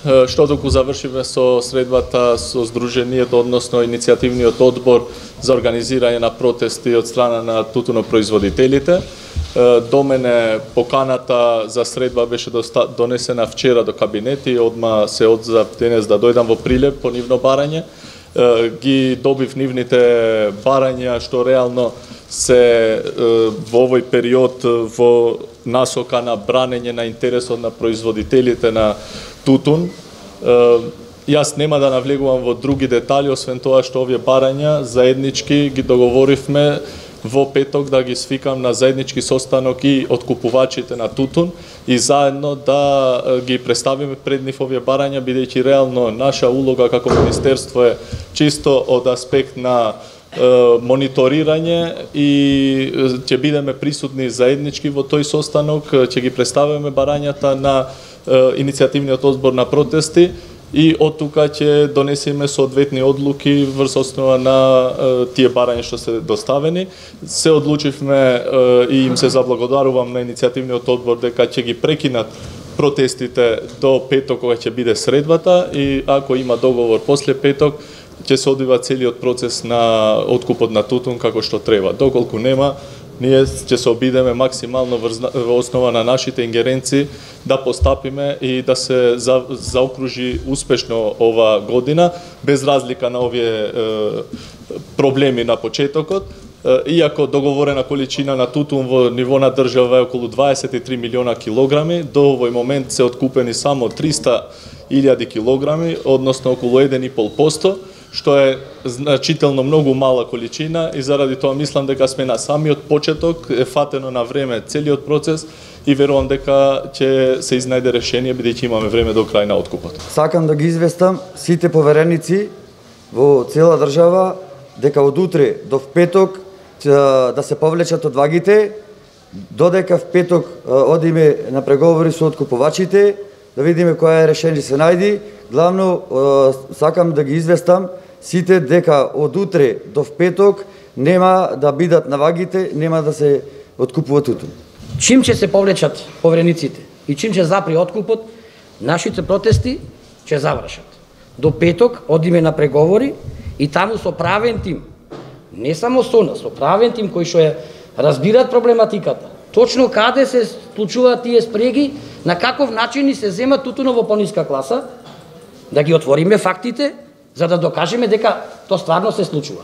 што доколку завршиме со средбата со Сдруженијето, односно иницијативниот одбор за организирање на протести од страна на тутунопроизводителите. До мене поканата за средба беше донесена вчера до кабинет и одма се одзав денес да дојдам во Прилеп по нивно барање. Ги добив нивните барања што реално се во овој период во насока на бранење на интересот на производителите на тутун. Јас нема да навлегувам во други детали, освен тоа што овие барања заеднички ги договоривме во петок да ги свикам на заеднички состанок и откупувачите на тутун и заедно да ги представиме пред нив овие барања, бидејќи реално наша улога како министерство е чисто од аспект на мониторирање и ќе бидеме присутни заеднички во тој состанок, ќе ги представиме барањата на иницијативниот одбор на протести и од тука ќе донесеме соодветни одлуки врз основа на тие барања што се доставени. Се одлучивме и им се заблагодарувам на иницијативниот одбор дека ќе ги прекинат протестите до петок кога ќе биде средбата и ако има договор после петок ќе се одвива целиот процес на откупот на тутун како што треба. Доколку нема, ние ќе се обидеме максимално во основа на нашите ингеренции да постапиме и да се заокружи успешно ова година, без разлика на овие проблеми на почетокот. Иако договорена количина на тутун во ниво на држава е околу 23 милиона килограми, до овој момент се откупени само 300.000 килограми, односно околу 1,5%, што е значително многу мала количина и заради тоа мислам дека сме на самиот почеток, е фатено на време целиот процес и верувам дека ќе се изнајде решение бидејќи имаме време до крај на откупот. Сакам да ги известам сите повереници во цела држава дека од утре до петок да се повлечат од вагите, додека в петок одиме на преговори со откупувачите, да видиме која е решение се најди. Главно сакам да ги известам сите дека од утре до петок нема да бидат на вагите, нема да се откупува тутун. Чим ќе се повлечат поверениците и чим ќе запри откупот, нашите протести ќе завршат. До петок одиме на преговори и таму со правен тим, не само со нас, со правен тим кој што ја разбираат проблематиката. Точно каде се случуваат тие спреги, на каков начин се зема тутунот во пониска класа, да ги отвориме фактите, за да докажеме дека тоа стварно се случува.